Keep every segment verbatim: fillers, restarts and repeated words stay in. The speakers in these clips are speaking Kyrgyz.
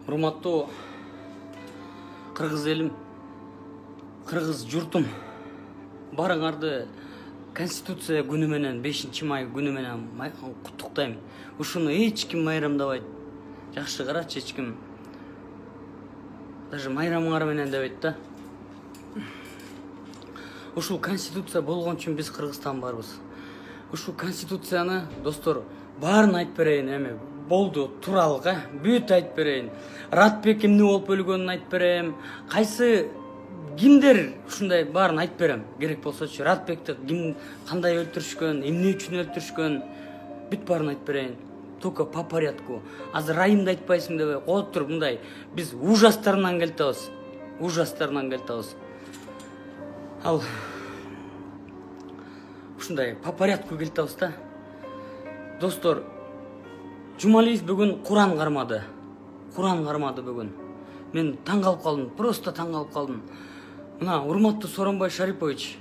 Урматтуу кыргыз элим, кыргыз журтум, баарыңарды Конституция күнү менен, бешинчи май күнү менен куттуктайм. Ушуну эч ким майрамдабайт. Жакшы карачы, эч ким. Даже майрамыңар менен дебейт да. Ушул Конституция болгон үчүн биз Кыргызстан барбыз. Ушул Конституцияны, достор, баарын айтып берейин эми. Болду, туралга, бүт айтып берейин. Ратбек эмне болуп өлгөнүн айтып берем. Кайсы кимдер ушундай баарын айтып берем. Керек болсочу, Ратбекти ким кандай өлтүрүшкөн, эмне үчүн өлтүрүшкөн, бүт баарын айтып берейин. Только по порядку. Азыр райымды айтпайсың дебей коюп туруп мындай биз ужастарынан келтебиз. Ужастарынан келтебиз. Ал ушундай по порядку келтебиз да. Достор, Жумалиев бүгүн Куран кармады. Куран кармады бүгүн. Мен таң калып калдым, просто таң калып калдым. Мына, урматтуу Сооронбай Шарипович,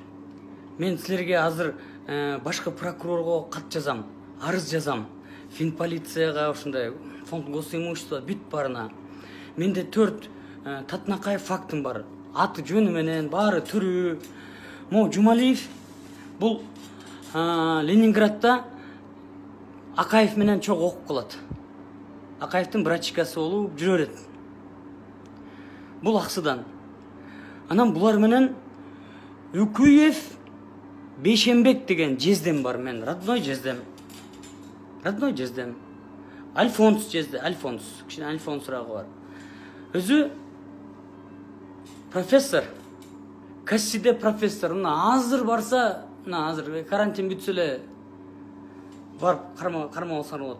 мен силерге азыр э, башкы прокурорго кат жазам, арыз жазам. Финполицияга, ушундай фонд госимущества бүт барына. Менде төрт э, Татнакаев фактым бар. Аты жөнү менен баары түрү. Мо Жумалиев бул э, Ленинградда Акаев менен чогуу окуп калат. Акаевдин брачкасы болуп жүрө берет. Бул аксыдан. Анан булар менен Үкүев Бейшембек деген жездем бар, мен родной жездем. Родной жездем. Альфонс жезде, Альфонс, кичине Альфонсурагы бар. Өзү профессор, Кассиде профессор. Мына азыр барса, мына азыр карантин бүтсө эле барып карма карма алсаң болот.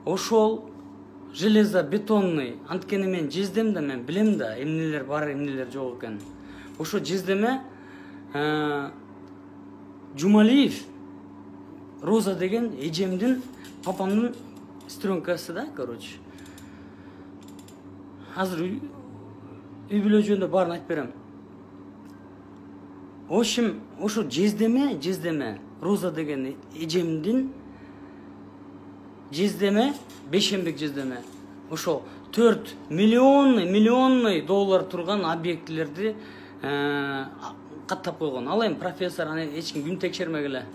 Ошол железобетонный, анткени мен жездем да, мен билем да, эмнелер бар, эмнелер жок экен. Ошо жездеме э, Жумалиев Роза деген эжемдин, папамдын сестренкасы да, короче. Азыр үй бүлө жөнүндө баарын айтып берем. Ошим, ошо жездеме, жездеме Роза деген эжемдин жездеме, Бейшембек жездеме, ошо төрт миллионный, миллионный доллар турган объектилерди э, каттап койгон. Ал эми профессор, аны эч ким күн текшермек эле.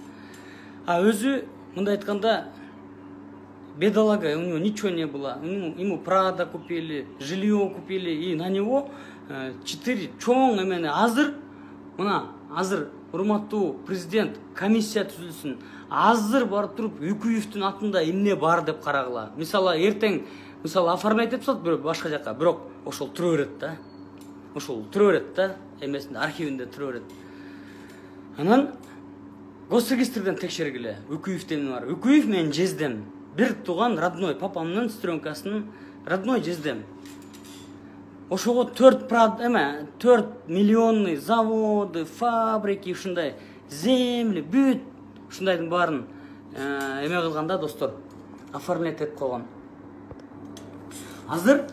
А өзү мындай айтканда бедолага, у него ничего не было. Ему Прада купили, жилье купили, и на него четыре чоң эмени. Азыр мына азыр урматтуу президент комиссия түзүлсүн. Азыр барып туруп Үкүевдин атында эмне бар деп карагыла. Мисалы эртең, мисалы оформлять этип салат бирөө башка жака, бирок ошол тура берет да. Ошол тура берет да, эмесинде, архивинде тура берет. Анан госрегистрден текшергиле. Үкүевдин бар. Үкүев менен жездем. Бир тууган родной, папамдын сестренкасынын родной жездем. Ошого төрт прад эме, төрт миллионный заводы, фабрики, ушундай земли, бүт ушундайдын баарын эме кылганда, достор, оформлять этип койгон. Азыр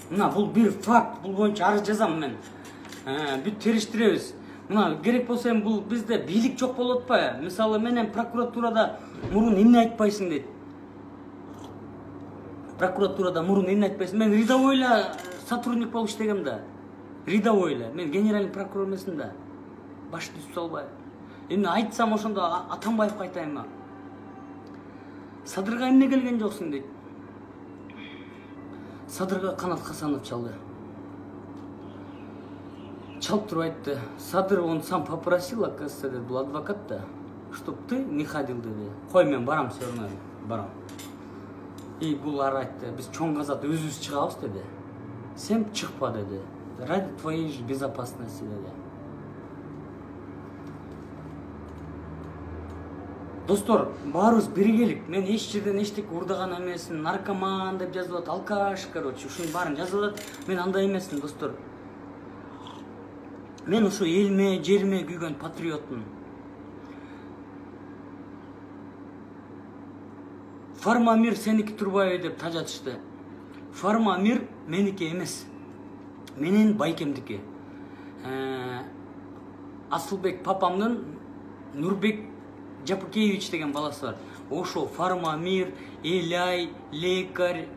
мына бул бир факт, бул боюнча арыз жазам мен. Бүт териштиребиз. Мына керек болсо эми бул бизде бийлик жок болуп атпайбы? Мисалы менен прокуратурада мурун эмне айтпайсың дейт. Прокуратурада мурун эмне айтпайсың? Мен рядовой эле сотрудник болуп иштегем да. Рядовой эле. Мен генеральный прокурор эмесмин да. Башты түзүп салбай. Эмне айтсам ошондо Атамбаевге айтайынбы? Садырга эмне келген жоксуң дейт. Садырга Канат Хасанов чалды. Чалып туруп айтты. Садыр, он сам попросил, оказывается, дед, был адвокат, да, чтоб ты не ходил, деди. Кой, мен барам все равно, барам. И булар айтты, біз чоң казат өзүбүз чыгабыз, деди. Сен чыкпа, деди. Ради твоей же безопасности, деди. Достор, баарыбыз биргелик. Мен эч жерден эчтеке урдаган эмесмин, наркоман деп жазылат, алкаш, короче, ушунун баарын жазылат. Мен андай эмесмин, достор. Мен ушу элме, жерме күйгөн патриотмун. Фармамир сеники турбайбы деп тажатышты. Фармамир меники эмес. Менин байкемдики. Асылбек папамдын Нурбек Жапыкевич деген баласы бар. Ошо Фармамир, Эляй, лекарь,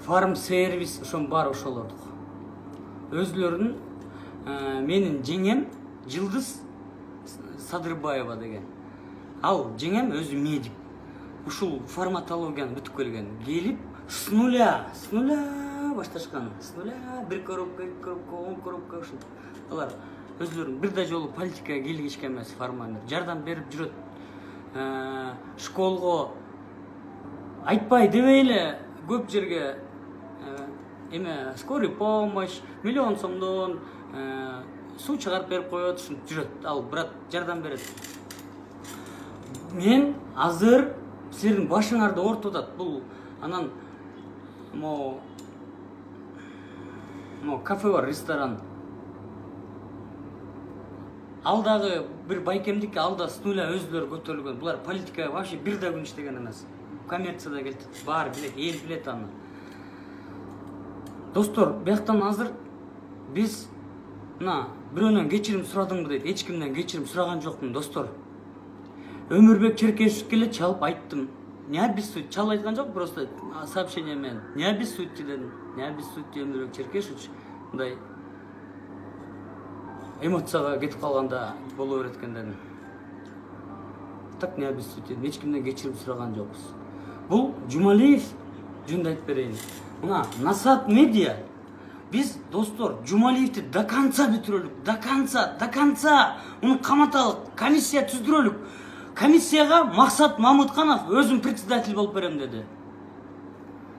фарм сервис ошонун баары ошолордук. Өзлөрүнүн менин жеңем Жылдыз Садырбаева деген. Ал жеңем өзү медик. Ушул фармакологияны бүтүп келген. Келип с нуля, с нуля башташкан. С нуля бир коробка, эки коробка, он коробка ушул. Алар өзлөрүн бир да жолу политикага кийлигишкен эмес, фарманер. Жардам берип жүрөт. Школго айтпай дебей эле көп жерге эме скорый помощь, миллион сомдон суу чыгарып берип коет, ушинтип жүрөт. Ал брат жардам берет. Мен азыр силердин башыңарды ортуп атат. Бул анан мо мо кафе бар, ресторан. Ал дагы бир байкемдики, ал да с нуля өзлөрү көтөрүлгөн. Булар политикага вообще бир да күн иштеген эмес. Коммерцияда келтип, баары билет, эл билет аны. Достор, бияктан азыр биз мына бирөөнөн кечирим сурадыңбы дейт. Эч кимден кечирим сураган жокмун, достор. Өмүрбек Черкешев келе чалып айттым. Не обессудь, чалып айткан жок, просто сообщение менен. Не обессудьте дедим. Не обессудьте, Өмүрбек Черкешевич. Мындай эмоцияга кетип калганда боло берет экен дедим. Так не обессудьте, эч кимден кечирим сураган жокпуз. Бул Жумалиев жөнүндө айтып берейин. Мына Насат медиа. Биз, достор, Жумалиевди до конца бүтүрөлүк, до конца, до конца. Уну каматалык, комиссия түздүрөлүк. Комиссияга Максат Мамытканов өзүм председатель болуп берем деди.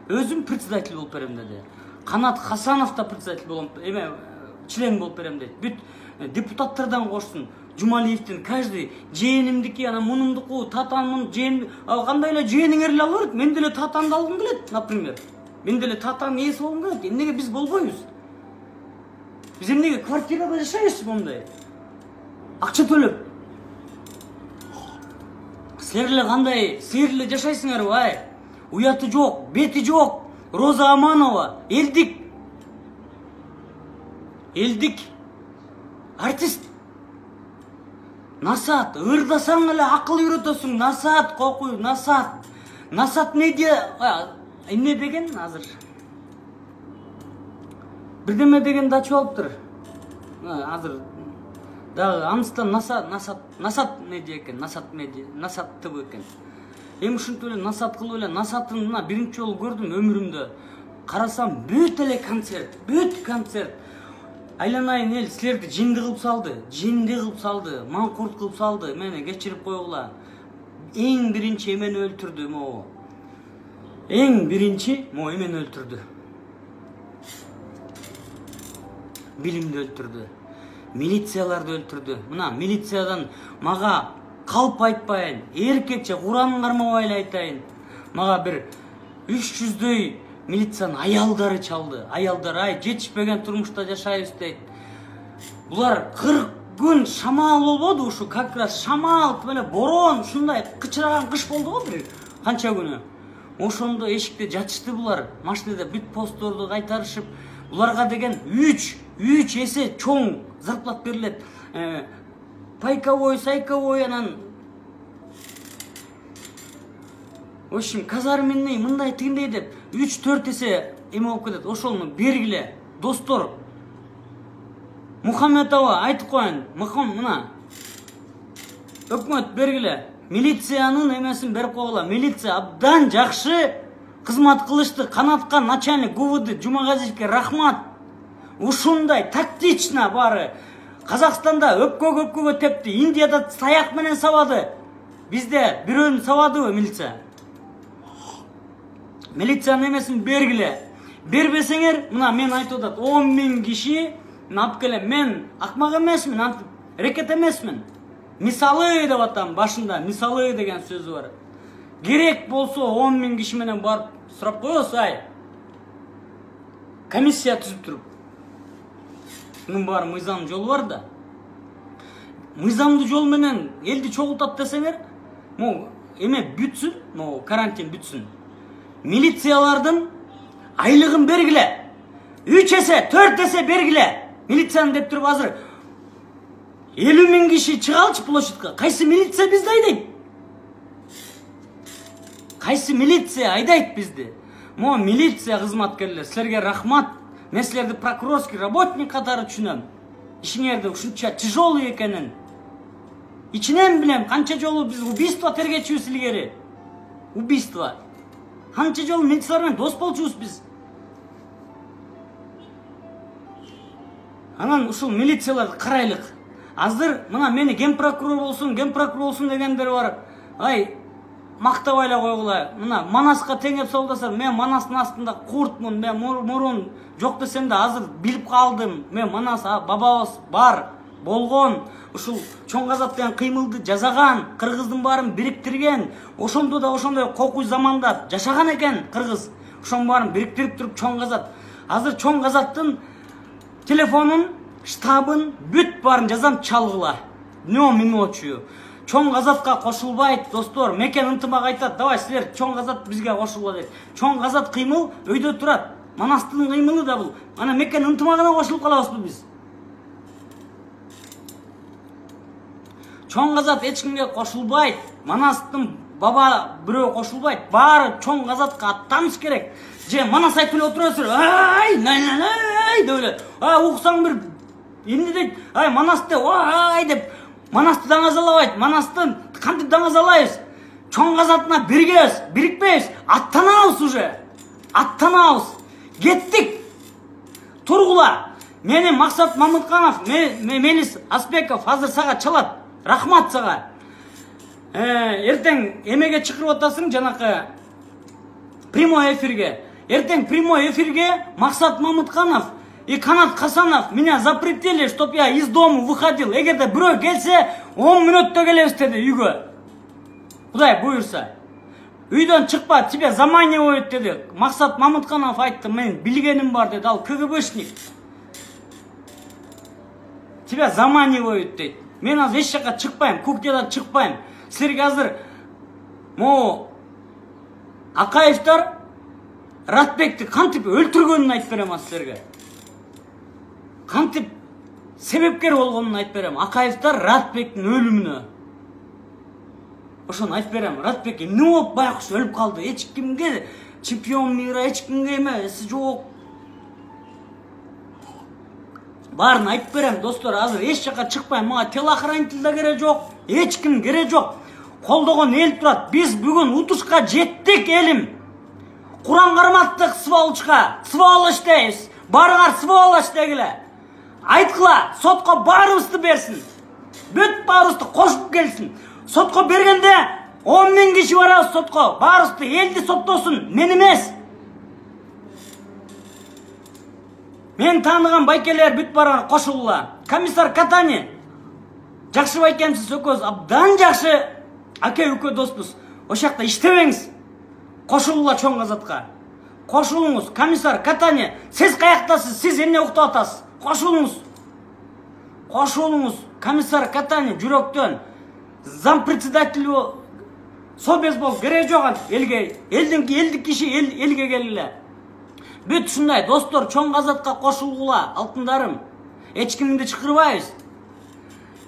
Өзүм председатель болуп берем деди. Канат Хасанов да председатель болом, эме член болуп берем дейт. Бүт депутаттардан кошсун. Жумалиевдин каждый жээнимдики, анан мунумдуку, татанмын, жээн, кандай эле жээниңер эле ала берет. Мен деле татанды алгым келет, например. Мен деле татанын ээси болгум келет. Эмнеге биз болбойбуз? Биз эмнеге квартирада жашайбыз мондай? Акча төлөп. Силер эле кандай, силер эле жашайсыңарбы, ай? Уяты жок, бети жок. Роза Аманова, элдик. Элдик. Артист. Насат, ырдасаң эле акыл үйрөтөсүң. Насат, кокуй, Насат. Насат медиа эмне деген азыр? Бирдеме деген да ачып алыптыр. Азыр дагы аныстан Насат, Насат, Насат медиа экен, Насат медиа, Насат ТВ экен. Эми ушинтип эле Насат кылып эле Насатын мына биринчи жолу көрдүм өмүрүмдө. Карасам бүт эле концерт, бүт концерт. Айланайын эл силерди жинди кылып салды, жинди кылып салды, маңкурт кылып салды. Мени кечирип койгула. Эң биринчи эмени өлтүрдү могу. Эң биринчи могу эмени өлтүрдү. Билимди өлтүрдү. Милицияларды өлтүрдү. Мына милициядан мага калп айтпайын, эркекче Куранын кармабай эле айтайын. Мага бир үч жүздөй милициянын аялдары чалды. Аялдар ай жетишпеген турмушта жашайбыз дейт. Булар кырк күн шамал болбоду ушу, как раз шамал, эле борон, ушундай кычыраган кыш болду го бир канча күнү. Ошондо эшикте жатышты булар. Машинада бүт постторду кайтарышып, буларга деген үч үч эсе чоң зарплат берилет. Пайковой, сайковой, анан в общем, казарменный мындай тигиндей деп үч төрт эсе эме болуп кетет. Ошону бергиле, достор. Мухаммедова айтып коеюн, мына өкмөт бергиле. Милициянын эмесин берип койгула. Милиция абдан жакшы кызмат кылышты. Канатка начальник ГУВД Жумагазиевке рахмат. Ушундай тактично баары. Казакстанда өпкө-көпкөгө тепти, Индияда саяк менен сабады. Бизде бирөөнү сабадыбы милиция? Милициянын эмесин бергиле. Бербесеңер, мына мен айтып атат, он миң киши алып келем. Мен акмак эмесмин, рекет эмесмин. Мисалы деп атам башында, мисалы деген сөзү бар. Керек болсо он миң киши менен барып сурап коебуз, ай. Комиссия түзүп туруп. Мунун баары мыйзам жолу бар да. Мыйзамдуу жол менен элди чогултат десеңер, могу эме бүтсүн, могу карантин бүтсүн. Милициялардын айлыгын бергиле. үч эсе, төрт эсе бергиле. Милицияны деп туруп азыр элүү миң киши чыгалчы площадька. Кайсы милиция бизди айдайт? Кайсы милиция айдайт бизди? Мо милиция кызматкерлер, силерге рахмат. Мен силерди прокурорский работник катары түшүнөм. Ишиңерди ушунча тяжелый экенин. Ичинен билем, канча жолу биз убийство тергечүбүз илгери. Убийство. Канча жолу милициялар менен дос болчубуз биз. Анан ушул милицияларды карайлык. Азыр мына мени ген прокурор болсун, ген прокурор болсун дегендер бар. Ай, мактабай эле койгула. Мына Манаска теңеп солдасам, мен Манастын астында куртмун, мен мурун жок десем да азыр билип калдым. Мен Манас бабабыз бар, болгон. Ушул чоң казат деген кыймылды жасаган, кыргыздын баарын бириктирген. Ошондо да ошондой кокуй заманда жашаган экен кыргыз. Ошонун баарын бириктирип туруп чоң казат. Азыр чоң казаттын телефонун, штабын, бүт баарын жазам чалгыла. Днем и ночью. Чоң казатка кошулбайт, достор. Мекен ынтымак айтат, давай силер чоң казат бизге кошулгула дейт. Чоң казат кыймыл өйдө турат. Манастын кыймылы да бул. Ана мекен ынтымагына кошулуп калабызбы биз? Чоң казат эч кимге кошулбайт. Манастын баба бирөө кошулбайт. Баары чоң казатка аттаныш керек. Же Манас айтып эле отурасыздар. Ай, най-най-най деп эле. А уксаң бир эмне дейт? Ай, Манасты, ай деп Манасты даңазалабайт. Манастын кантип даңазалайбыз? Чоң казатына биргебиз, бирикпейбиз. Аттанабыз уже. Аттанабыз. Кеттик. Тургула. Мени Максат Мамытканов, Мелис Аспеков азыр сага чалат. Рахмат сага. Эртең эмеге чакырып атасың жанакы прямой эфирге. Эртең прямой эфирге Максат Мамытканов и Канат Хасанов меня запретили, чтоб я из дома выходил. Эгерде бирөө келсе, он мүнөттө келебиз деди үйгө. Кудай буйрса. Үйдөн чыкпа, тебе заманивают деди. Максат Мамытканов айтты, мен билгеним бар деди, ал КГБшник. Тебя заманивают дейт. Мен азыр эч жака чыкпайм, кухнядан чыкпайм. Силерге азыр могу Акаевтар Ратбекти кантип өлтүргөнүн айтып берем силерге. Кантип себепкер болгонун айтып берем. Акаевтар Ратбектин өлүмүнө. Ошону айтып берем. Ратбек эмне болуп байкуш өлүп калды? Эч кимге чемпион мира, эч кимге эмес, жок. Баарын айтып берем, достор, азыр эч жака чыкпайм. Мага телохранитель да керек жок, эч ким керек жок. Колдогон эл турат. Биз бүгүн утушка жеттик, элим. Куран карматтык сволочка, сволочь дейбиз. Барыңар сволочь дегиле. Айткыла, сотко баарыбызды берсин. Бүт баарыбызды кошуп келсин. Сотко бергенде он миң киши барабыз сотко. Баарыбызды элди соттосун, мен эмес. Мен тааныган байкелер бүт барган кошулула. Комиссар Катани. Жакшы байкемсиз экөөбүз абдан жакшы аке үкө доспуз. Ошол жакта иштебеңиз. Кошулула чоң казатка. Кошулуңуз. Комиссар Катани, сиз каяктасыз? Сиз эмне уктап атасыз? Кошулуңуз. Кошулуңуз. Комиссар Катани жүрөктөн. Зам председатель собез бол керек жок элге. Элдин элдик киши эл элге келиле. Бүт ушундай достор, чоң казатка кошулгула, алтындарым. Эч кимди чакырбайбыз.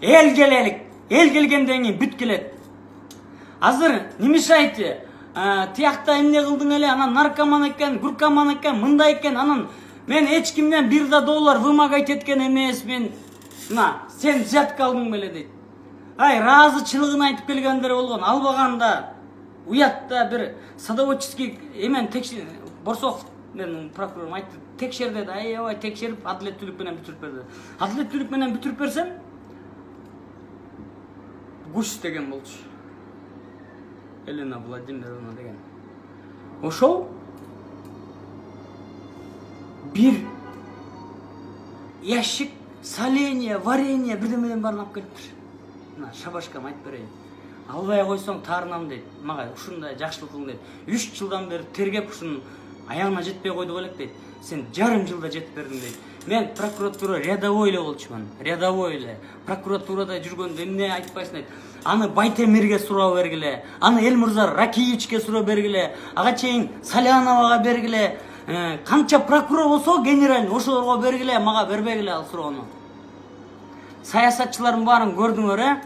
Эл келелик. Эл келгенден кийин бүт келет. Азыр не мешайте? Тиякта эмне кылдың эле, анан наркоман экен, гуркоман экен, мындай экен, анан мен эч кимден бир да доллар вымогать эткен эмес, мен мына сен взятка алдың беле дейт. Ай, разычылыгын айтып келгендер болгон, албаганда уятта бир садоводческий эмен текшер Борсоков менин прокурорум айтты, текшер деди, аябай текшерип адилеттүүлүк менен бүтүрүп берди. Адилеттүүлүк менен бүтүрүп берсем Гуш деген болчу. Елена Владимировна деген. Ошол бир ящик соленья, варенье бирдемеден баарын алып келиптир. Мына шабашкам айтып берейин. Албай койсоң таарынам дейт. Мага ушундай жакшылык кылың дейт. үч жылдан бери тергеп ушунун аягына жетпей койдук элек дейт. Сен жарым жылда жетип бердиң дейт. Мен прокуратура рядовой эле болчумун. Рядовой эле. Прокуратурада жүргөндө эмне айтпайсың дейт. Аны Байтемирге суроо бергиле. Аны Элмурза Ракиевичке суроо бергиле. Ага чейин Саляновага бергиле. Канча прокурор болсо генерал ошолорго бергиле, мага бербегиле ал суроону. Саясатчылардын баарын көрдүңөр, э?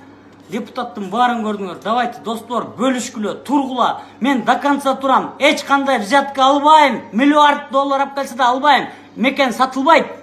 депутаттын баарын көрдүңөр. Давайте достор бөлүшкүлө, тургула. Мен до конца турам. Эч кандай взятка албайм. Миллиард доллар алып келсе да албайм. Мекен сатылбайт.